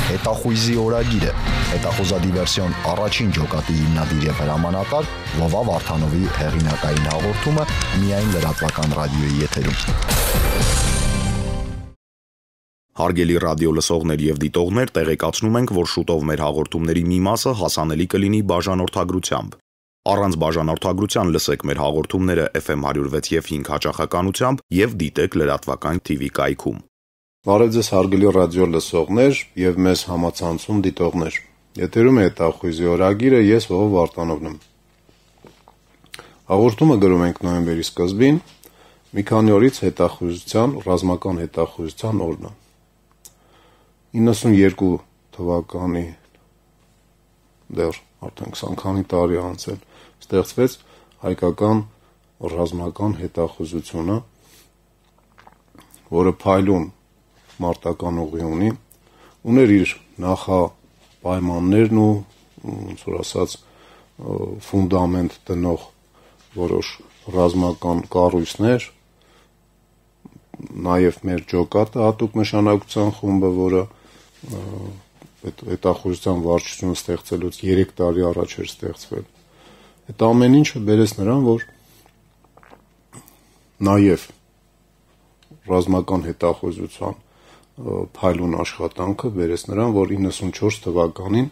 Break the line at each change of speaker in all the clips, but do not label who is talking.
Հետախույզի օրագիրը, հետախուզադիվերսիոն առաջին ջոկատի հիմնադիր և հրամանատար Վովա Վարդանովի հեղինակային հաղորդումը միայն լրատվական ռադիոյի եթերում։ Հարգելի ռադիո լսողներ և դիտողներ, տեղեկացնում ենք, որ շուտով մեր հաղորդումների մի մասը հասանելի կլինի բաժանորդագրությամբ։ Առանց բաժանորդագրության լսեք մեր հաղորդումները FM 106 և 5 հաճախականությամբ և դիտեք լրատվական TV կայքում։
Բարև ձեզ հարգելի ռադիո լսողներ և մեզ համացանցում դիտողներ։ Եթերում է հետախույզի օրագիրը, ես Վովա Վարդանովն եմ։ Հաղորդումը գրում ենք նոյեմբերի սկզբին, մի քանի օրից ռազմական հետախույզության օրն է։ 92 թվականի դեռ արդեն 20 քանի տարի անցել ստեղծվեց հայկական ռազմական հետախուզությունը, որը փայլուն մարտական ուղի ուներ իր նախապայմաններն ու ոնց որ ասած ֆունդամենտ դնող որոշ ռազմական կառույցներ, նաև մեր ջոկատը հատուկ նշանակության խումբը, որը հետախուզության վարչությունը ստեղծելուց 3 տարի առաջ էր ստեղծվել։ Այդ ամեն ինչը բերեց նրան, որ նաև ռազմական հետախուզության փայլուն աշխատանքը բերեց նրան, որ 94 թվականին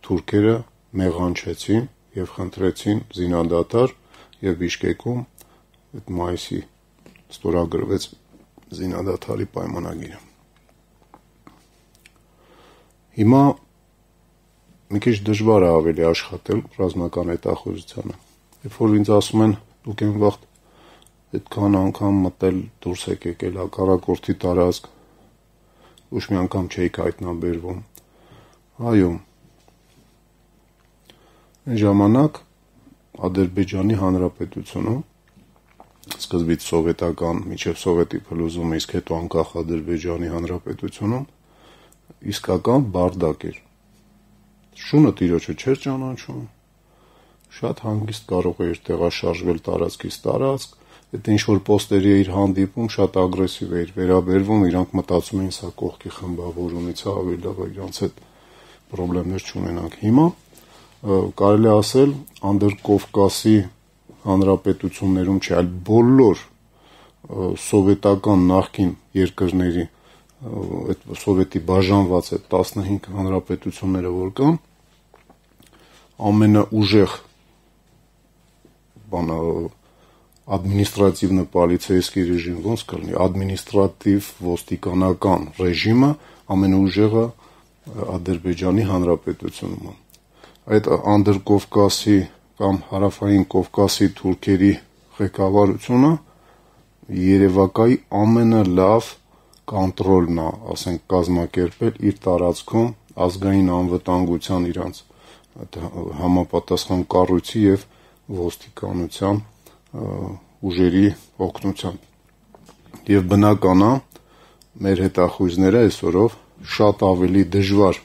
թուրքերը մեղանչեցին և խնդրեցին զինադադար և Բիշկեկում այդ մայիսի ստորագրվեց զինադադարի պայմանագիրը։ Հիմա մի քիչ դժվար է ավելի աշխատել ռազմական հետախուզությանը։ Երբ որ ինձ ասում են դուք այն վաղ այդքան անգամ մտել դուրս եք եկել հակառակորդի տարածք, ոչ մի անգամ չէիք հայտնաբերվում։ Այո, այն ժամանակ Ադրբեջանի Հանրապետությունում, սկզբից սովետական, մինչև սովետի փլուզումը, իսկ հետո անկախ Ադրբեջանի Հանրապետությունում իսկական բարդակ էր։ Շունը տիրոջը չէր ճանաչում, շատ հանգիստ կարող էր տեղաշարժվել տարածքից տարածք, այդ ինչ-որ պոստերի էր հանդիպում, շատ ագրեսիվ էր վերաբերվում, իրանք մտածում էին սա կողքի խմբավորումից է, ավելի լավ է իրանց հետ պրոբլեմներ չունենանք։ Հիմա կարելի է ասել Անդրկովկասի հանրապետություններում չէ, այլ բոլոր սովետական նախկին երկրների, այդ սովետի բաժանված այդ 15 հանրապետությունները որ կան, ամենաուժեղ ադմինիստրատիվնո-պոլիցեյսկի ռեժիմ, ոնց կլինի, ադմինիստրատիվ ոստիկանական ռեժիմը ամենաուժեղը Ադրբեջանի Հանրապետությունում է։ Այդ Անդրկովկասի կամ Հարավային Կովկասի թուրքերի ղեկավարությունը երևակայի ամենալավ կոնտրոլն է, ասենք, կազմակերպել իր տարածքում ազգային անվտանգության իրանց համապատասխան կառույցի և ոստիկանության ուժերի օգնությամբ։ Եվ բնական է, մեր հետախույզները այսօրով շատ ավելի դժվար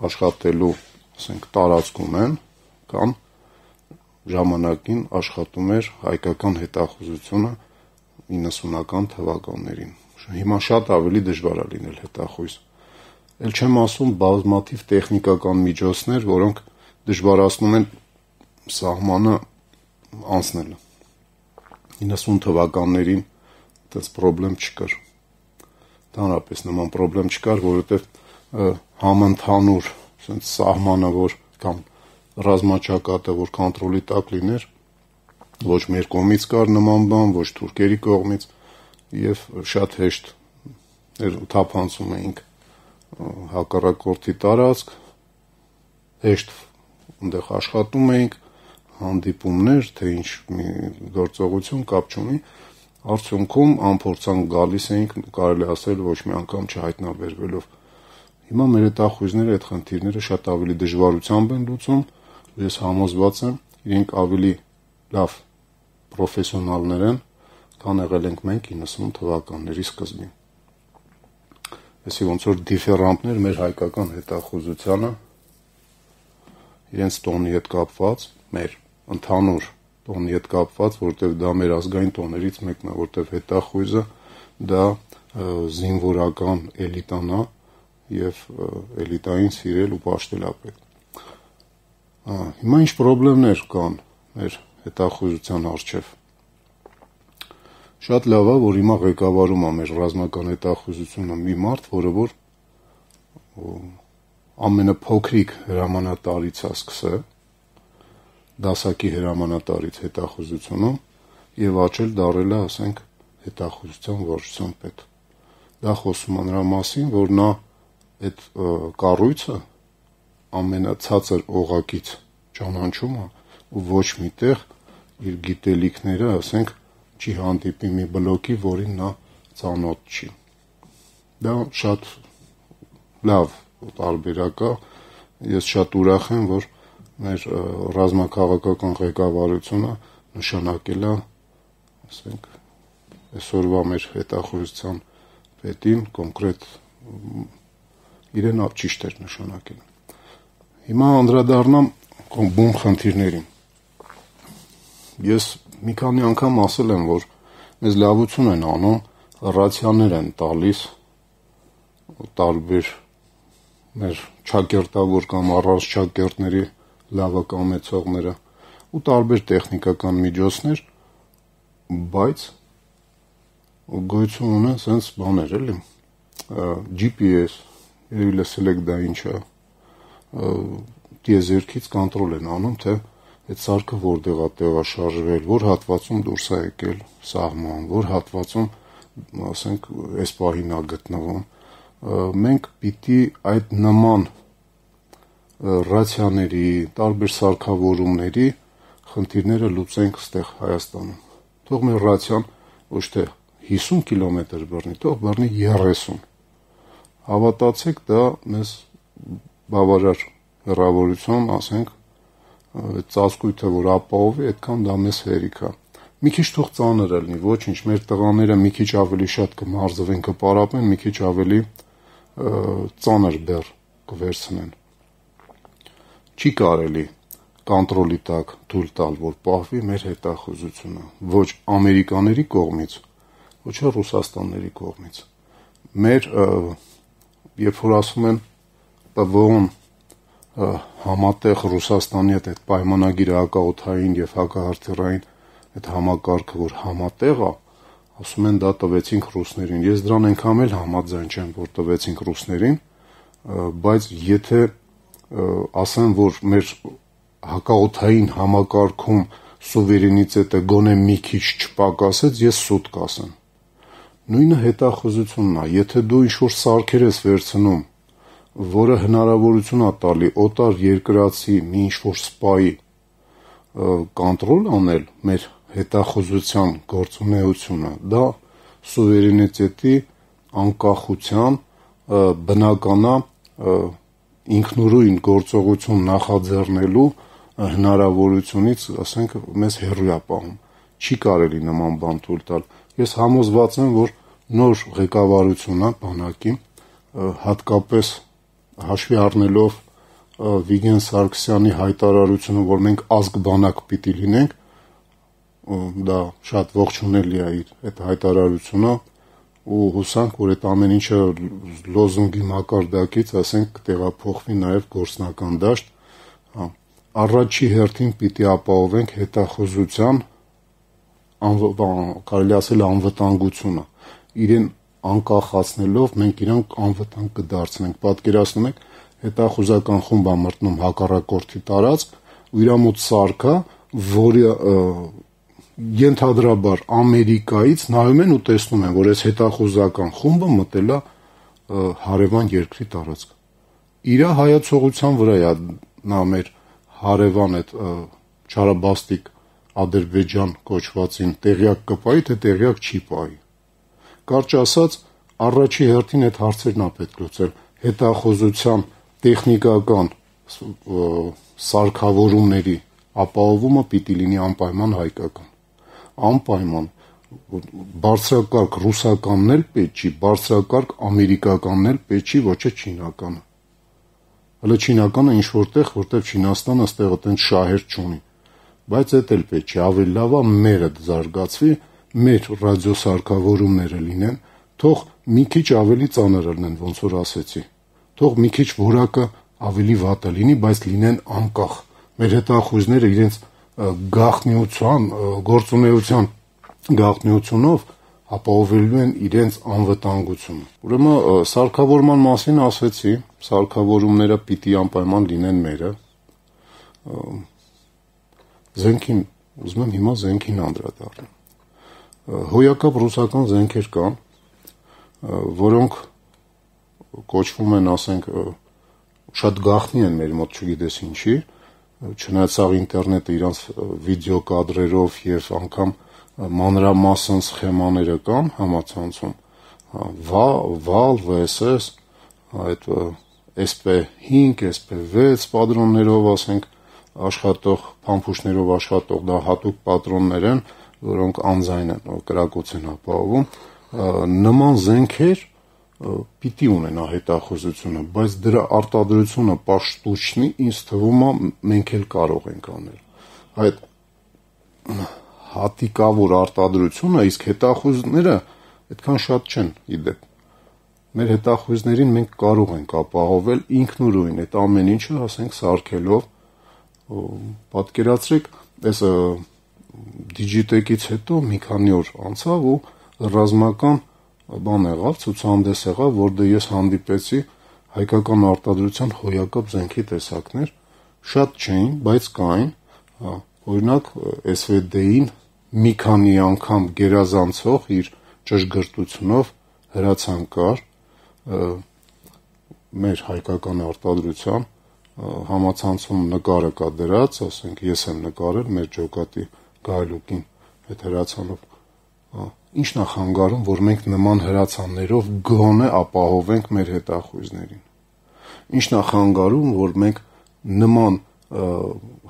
աշխատելու, ասենք, տարածքում են, կամ ժամանակին աշխատում էր հայկական հետախուզությունը 90-ական թվականներին։ Հիմա շատ ավելի դժվար է լինել հետախույզ։ Էլ չեմ ասում բազմաթիվ տեխնիկական միջոցներ, որոնք դժվարացնում են սահմանը անցնելը։ 90 թվականներին այդպես պրոբլեմ չկար։ Ընդհանրապես նման պրոբլեմ չկար, որովհետև համընդհանուր սահմանը, որ կամ ռազմաճակատը, որ կոնտրոլի տակ լիներ, ոչ մեր կողմից կար նման բան, ոչ թուրքերի կողմից, և շատ հեշտ թափանցում էինք հակառակորդի տարածք, հեշտ այնտեղ աշխատում էինք, հանդիպումներ, թե ինչ մի գործողություն, կապ չունի, արդյունքում անփորձանք գալիս էինք, կարելի ասել, ոչ մի անգամ չհայտնաբերվելով։ Հիմա մեր հետախույզները այդ խնդիրները շատ ավելի դժվարությամբ են լուծում, ես համոզված եմ, իրենք ավելի լավ պրոֆեսիոնալներ են, քան եղել ենք մենք 90 թվականների սկզբին։ Այսի ոնց որ դիֆերանտներ մեր հայկական հետախուզությանը իրենց տոնի հետ կապված, մեր ընդհանուր տոնի հետ կապված, որտեղ դա մեր ազգային տոներից մեկն է, որտեղ հետախույզը դա զինվորական էլիտան է եւ էլիտային սիրել ու պաշտել է պետք։ Հիմա ինչ խնդիրներ կան մեր հետախույզության առջև։ Շատ լավ է, որ հիմա ղեկավարում է մեր ռազմական հետախույզությունը մի մարդ, որը որ ամենափոքրիկ հրամանատարից է սկսել, դասակի հրամանատարից հետախույզությունում եւ աճել դառել է, ասենք, հետախույզության վարչության պետ։ Դա խոսում է նրա մասին, որ նա այդ կառույցը ամենացածր օղակից ճանաչում է ու ոչ միտեղ իր գիտելիքները, ասենք, չի հանդիպի մի բլոկի, որին նա ծանոթ չի։ Դա շատ լավ տարբերակ է։ Ես շատ ուրախ եմ, որ մեր ռազմաքաղաքական ղեկավարությունը նշանակել է, ասենք, այսօրվա մեր հետախույզության պետին կոնկրետ իրեն ճիշտ էր նշանակել։ Հիմա անդրադառնամ բուն խնդիրներին։ Ես մի քանի անգամ ասել եմ, որ մեզ լավություն են անում, ռացիաներ են տալիս տարբեր մեր չակերտավոր կամ առանց չակերտների լավակամեցողները ու տարբեր տեխնիկական միջոցներ, բայց գոյություն ունեն sense բաներ, էլի, GPS, երևի լսել եք դա ինչ է, տիեզերքից կոնտրոլ են անում, թե այդ սարքը որտեղ է տեղաշարժվել, որ հատվածում դուրս է եկել սահման, որ հատվածում, ասենք, այս պահին է գտնվում։ Մենք պիտի այդ նման ռացիաների, տարբեր սարքավորումների խնդիրները լուծենք ստեղ Հայաստանում։ Թող մեր ռացիան ոչ թե 50 կիլոմետր բռնի, թող բռնի 30։ Հավատացեք, դա մեզ բավարար հեռավորություն, ասենք, ծածկույթը, որ ապահովի, այդքան դա մեզ հերիք է։ Մի քիչ թող ծանր լինի, ոչինչ, մեր տղաները մի քիչ ավելի շատ կմարզվեն, կպարապեն, մի քիչ ավելի ծանր բեռ կվերցնեն։ Չի կարելի կոնտրոլի տակ թույլ տալ, որ պահվի մեր հետախույզությունը, ոչ ամերիկաների կողմից, ոչ էլ Ռուսաստանների կողմից։ Մեր, երբ որ ասում են ՊՎՕ-ն համատեղ Ռուսաստանի հետ այդ պայմանագիր հակաօդային եւ հակահարթիռային այդ համակարգը, որ համատեղ է, ասում են դա տվեցինք ռուսներին։ Ես դրան այնքան էլ համաձայն չեմ, որ տվեցինք ռուսներին, բայց եթե ասեմ, որ մեր հակաօդային համակարգում սուվերենիտետը գոնե մի քիչ չպակասեց, ես սուտ կասեմ։ Նույնը հետախուզությունն է, եթե դու ինչ-որ սարքեր ես վերցնում, որը հնարավորություն է տալի օտար երկրացի մի ինչ-որ սպայի կոնտրոլ անել մեր հետախուզության գործունեությունը, դա սուվերենիտետի անկախության բնականա ինքնուրույն գործողություն նախաձեռնելու հնարավորությունից, ասենք, մեզ հեռու է պահում։ Չի կարելի նման բան թույլ տալ։ Ես համոզված եմ, որ նոր ղեկավարությունը բանակի, հատկապես հաշվի առնելով Վիգեն Սարգսյանի հայտարարությունը, որ մենք ազգ բանակ պիտի լինենք, դա շատ ողջունելի է իր այդ հայտարարությունը ու հուսանք, որ այդ ամեն ինչը լոզունգի մակարդակից, ասենք, կտեղափոխվի նաև գործնական դաշտ, առաջի հերթին պիտի ապահովենք հետախուզության, կարելի ասել անվտանգությունը, իրեն անկախացնելով մենք իրանք անվտանգ կդարձնենք։ Պատկերացնում եք, հետախուզական խումբ է մտնում հակառակորդի տարածք ու իր մոտ սարքա, որը ենթադրաբար Ամերիկայից նայում են ու տեսնում են, որ այս հետախուզական խումբը մտել է հարևան երկրի տարածք։ Իր հայացողության վրա է նա մեր հարևան այդ չարաբաստիկ Ադրբեջան կոչվածին տեղյակ կպայի, թե տեղյակ չի պայի։ Կարճ ասած, առաջի հերթին այդ հարցերն է պետք լուծել։ Հետախուզության տեխնիկական սարքավորումների ապահովումը պիտի լինի անպայման հայկական։ Անպայման բարձրակարգ ռուսականն էլ պետք չի, բարձրակարգ ամերիկականն էլ պետք չի, ոչ է չինականը։ Հələ չինականը ինչ որտեղ, որտեղ Չինաստանը այստեղ այդպես շահեր չունի։ բայց դա էլ պետք չի, ավելի լավ է մերը զարգացվի, մեր ռադիոսարքավորումները լինեն, թող մի քիչ ավելի ծանր լինեն, ոնց որ ասեցի, թող մի քիչ որակը ավելի վատը լինի, բայց լինեն անկախ, մեր հետախույզները իրենց գաղտնիության, գործունեության գաղտնիությունով ապահովելու են իրենց անվտանգությունը։ Ուրեմն սարքավորման մասին ասեցի, սարքավորումները պիտի անպայման լինեն մերը։ Զենքին, ուզում եմ հիմա զենքին անդրադառնամ։ Հոյակապ ռուսական զենքեր կան, որոնք կոչվում են, ասենք, շատ գաղտնի են մեր մոտ, չգիտես ինչի, չնայած սաղ ինտերնետը իրանց վիդեո կադրերով եւ անգամ մանրամասն սխեմաները կան համացանցում, VAL, VSS, այդ SP5, SP6 պատրոններով, ասենք, աշխատող, փամփուշտներով աշխատող, դա հատուկ պատրոններ են, որոնք անձայն են, կրակոց են ապահովում, նման զենքեր պիտի ունենա հետախուզությունը, բայց դրա արտադրությունը պաշտուճնի, ինձ թվում է մենք էլ կարող ենք անել։ Այդ հատիկավոր արտադրությունը, իսկ հետախուզները այդքան շատ չեն իդեպ։ Մեր հետախույզներին մենք կարող ենք ապահովել ինքնուրույն այդ ամեն ինչը, ասենք, սարքելով, պատկերացրեք, այս Digitech-ից հետո մի քանի օր անցավ ու ռազմական բան եղավ, ցուցահանդես եղավ, որտեղ ես հանդիպեցի հայկական արտադրության հոյակապ զենքի տեսակներ, շատ չէին, բայց կային, օրինակ SVD-ին մի քանի անգամ գերազանցող իր ճշգրտությունով հրացան կար մեր հայկական արտադրության համացանցում նկարը կա դրած, ասենք ես եմ նկարել մեր ջոկատի գայլուկին այդ հրացանով, ինչն է խանգարում, որ մենք նման հրացաններով գոնե ապահովենք մեր հետախույզներին, ինչն է խանգարում, որ մենք նման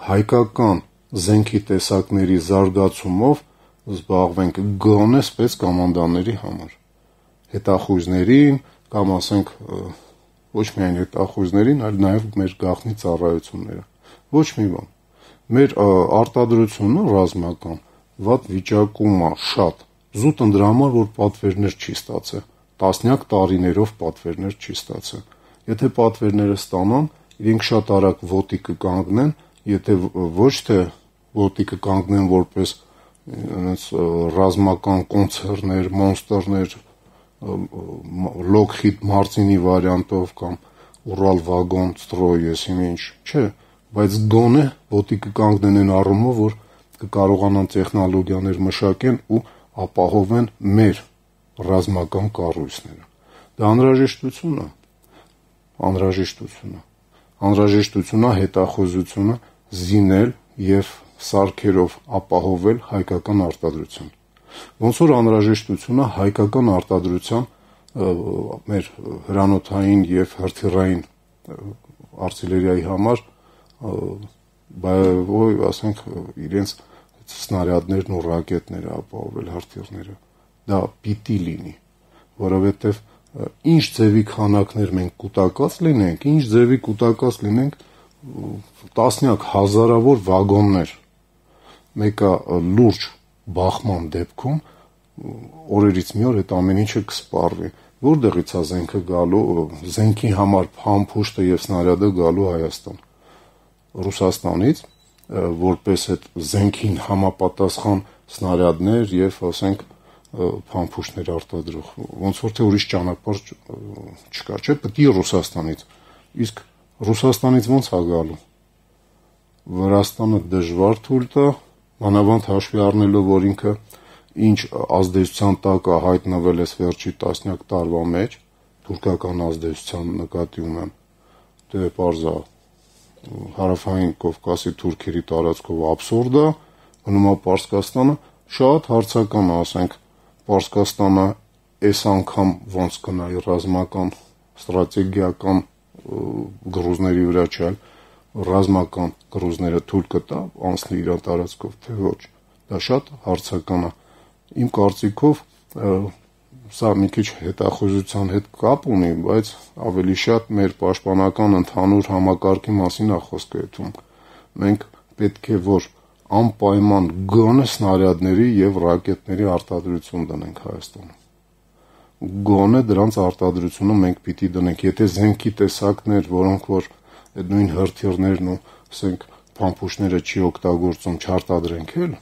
հայկական զենքի տեսակների զարգացումով զբաղվենք գոնե սպեցկոմանդաների համար, հետախույզներին կամ ասենք ոչ միայն հետախույզներին, այլ նաև մեր գաղտնի ծառայությունները, ոչ մի բան, մեր արտադրությունը ռազմական վատ վիճակում է շատ, զուտ դրա համար, որ պատվերներ չի ստացել, տասնյակ տարիներով պատվերներ չի ստացել, եթե պատվերները ստանան, իրենք շատ արագ ոտի կկանգնեն, եթե ոչ թե ոտի կկանգնեն որպես ռազմական կոնցերներ, մոնստերներ, Lockheed Martin-ի վարիանտով կամ Ural Vagon Stroy, ես ինչ, չէ, բայց գոնե ոտի կկանգնեն այն առումով, որ կկարողանան տեխնոլոգիաներ մշակեն ու ապահովեն մեր ռազմական կառույցները։ Դա անհրաժեշտությունը հետախուզությունը զինել եւ սարքերով ապահովել հայկական արտադրություն։ Ոնց որ անհրաժեշտությունը հայկական արտադրության մեր հրանոթային եւ հրթիռային արտիլերիայի համար ասենք իրենց սնարյադներն ու ռակետները ապահովել հրթիռները, դա պիտի լինի, որովհետև ինչ ձևի քանակներ մենք կուտակած լինենք, ինչ ձևի կուտակած լինենք տասնյակ հազարավոր վագոններ, մեկը լուրջ բախման դեպքում օրերից մի օր այդ ամեն ինչը կսպառվի, որտեղից է զենքը գալու, զենքի համար փամփուշտը եւ սնարյադը գալու Հայաստան, Ռուսաստանից, որպես այդ զենքին համապատասխան սնարյադներ եւ ասենք փամփուշտներ արտադրող, ոնց որ թե ուրիշ ճանապարհ չկա, չէ՞, պետք է Ռուսաստանից, իսկ Ռուսաստանից ոնց է գալու, Վրաստանը դժվար թույլ տա, մանավանդ հաշվի առնելով, որ ինքը ինչ ազդեցության տակ է հայտնվել այս վերջի տասնյակ տարվա մեջ, թուրքական ազդեցության նկատի ունեմ, դե պարզ է, հարավային Կովկասի թուրքերի տարածքով աբսուրդ է, մնում է Պարսկաստանը, շատ հարցական է, ասենք, Պարսկաստանը այս անգամ ոնց կնայի ռազմական, ստրատեգիական գրուզների վրա չէ, ռազմական գրուզները թույլ կտա անցնի իր տարածքով, թե ոչ, դա շատ հարցական է, իմ կարծիքով սա մի քիչ հետախուզության հետ կապ ունի, բայց ավելի շատ մեր պաշտպանական ընդհանուր համակարգի մասին է խոսքը ետում, մենք պետք է որ անպայման գոնե սնարյադների եւ ռակետների արտադրություն դնենք Հայաստանում։ Գոնե դրանց արտադրությունը մենք պիտի դնենք, եթե զենքի տեսակներ, որոնք որ այդ նույն հրթիռներն ու ասենք փամփուշտները չի օգտագործում, չարտադրենք էլ,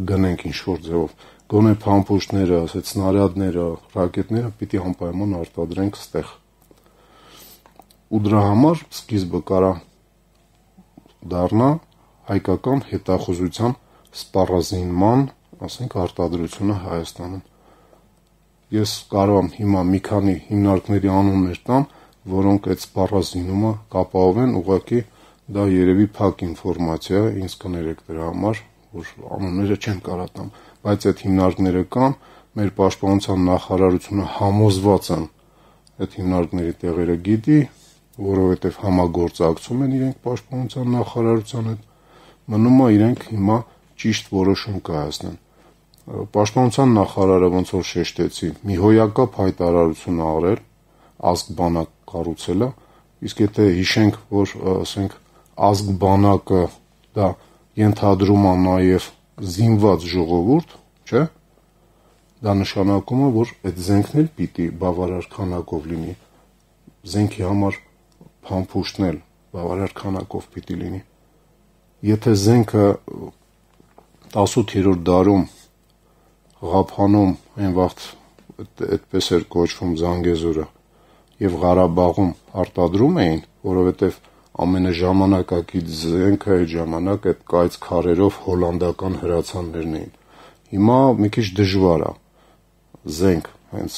գնենք ինչ-որ ձևով, գոնե փամփուշտները, ասած սնարյադները, ռակետները պիտի անպայման արտադրենք ստեղ։ Ու դրա համար սկիզբը կարա դառնա հայկական հետախուզության սպառազինման, ասենք, արտադրությունը Հայաստանում։ Ես կարող եմ հիմա մի քանի հիմնարկների անուններ տամ, որոնք այդ սպառազինումը կապահովեն, ուղղակի դա երևի փակ ինֆորմացիա, ինձ կներեք դրա համար, որ անունները չեմ կարող տամ, բայց այդ հիմնարկները կան, մեր պաշտպանության նախարարությունը համոզված են այդ հիմնարկների տեղերը գիտի, որովհետև համագործակցում են իրենք պաշտպանության նախարարության հետ, մնում է իրենք հիմա ճիշտ որոշում կայացնեն։ Պաշտպանության նախարարը ոնց որ շեշտեցի, մի հոյակապ հայտարարություն արել, ազգ բանակ կառուցելը, իսկ եթե հիշենք, որ ասենք ազգ բանակը դա ենթադրում է նաև զինված ժողովուրդ, չէ՞, դա նշանակում է, որ այդ զենքն էլ պիտի բավարար քանակով լինի, զենքի համար փամփուշտն էլ բավարար քանակով պիտի լինի։ Եթե զենքը 18-րդ դարում Ղափանում այն վաղ այդպես էր կոչվում Զանգեզուրը եւ Ղարաբաղում արտադրում էին, որովհետեւ ամենաժամանակակից զենքը այդ ժամանակ այդ կայծ քարերով հոլանդական հրացաններն էին։ Հիմա մի քիչ դժվար է զենք, հենց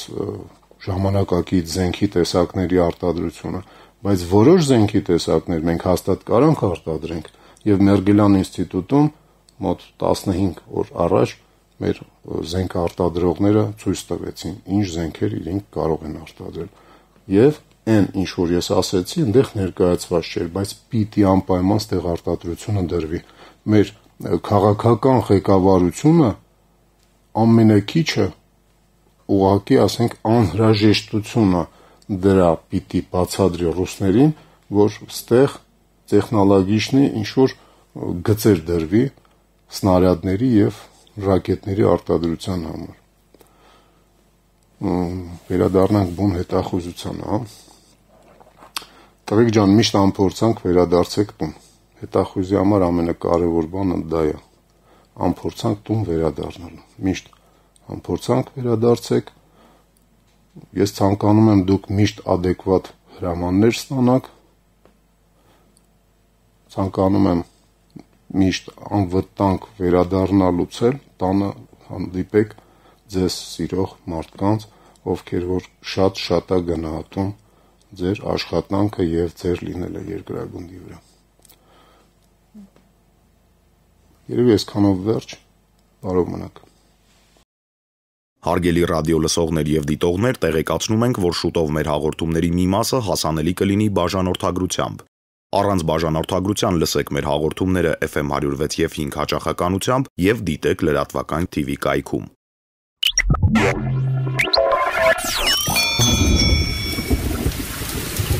ժամանակակից զենքի տեսակների արտադրությունը, բայց որոշ զենքի տեսակներ մենք հաստատ կարանք արտադրենք եւ Մերգելյան ինստիտուտում մոտ 15 օր առաջ մեր զենք արտադրողները ցույց տվեցին, ինչ զենքեր իրենք կարող են արտադրել։ Եվ այն ինչ որ ես ասեցի, այնտեղ ներկայացված չէր, բայց պիտի անպայման ստեղ արտադրությունը դրվի։ Մեր քաղաքական ղեկավարությունը ամենակիչը ուղղակի, ասենք, անհրաժեշտությունը դրա պիտի բացատրի ռուսներին, որ ստեղ տեխնոլոգիչնի ինչ որ գծեր դրվի սնարյադների եւ ռակետների արտադրության համար։ Վերադառնանք բուն հետախուզությանը, Տղեկ ջան, միշտ անփորձանք վերադարձեք տուն։ Հետախուզի համար ամենակարևոր բանը դա է։ Անփորձանք տուն վերադառնալու։ Միշտ անփորձանք վերադարձեք։ Ես ցանկանում եմ դուք միշտ adekvat հրամաններ ստանաք։ Ցանկանում եմ միշտ անվտանգ վերադառնալուց էլ տանը հանդիպեք ձեզ սիրող մարդկանց, ովքեր որ շատ է գնահատում ձեր աշխատանքը եւ ձեր լինելը երկրագնդի վրա։ Երևի այսքանով վերջ, բարով մնաք։
Հարգելի ռադիո լսողներ եւ դիտողներ, տեղեկացնում ենք, որ շուտով մեր հաղորդումների մի մասը հասանելի կլինի բաժանորդագրությամբ։ Առանց բաժանորդագրության լսեք մեր հաղորդումները FM 106 եւ 5 հաճախականությամբ եւ դիտեք լրատվական TV կայքում։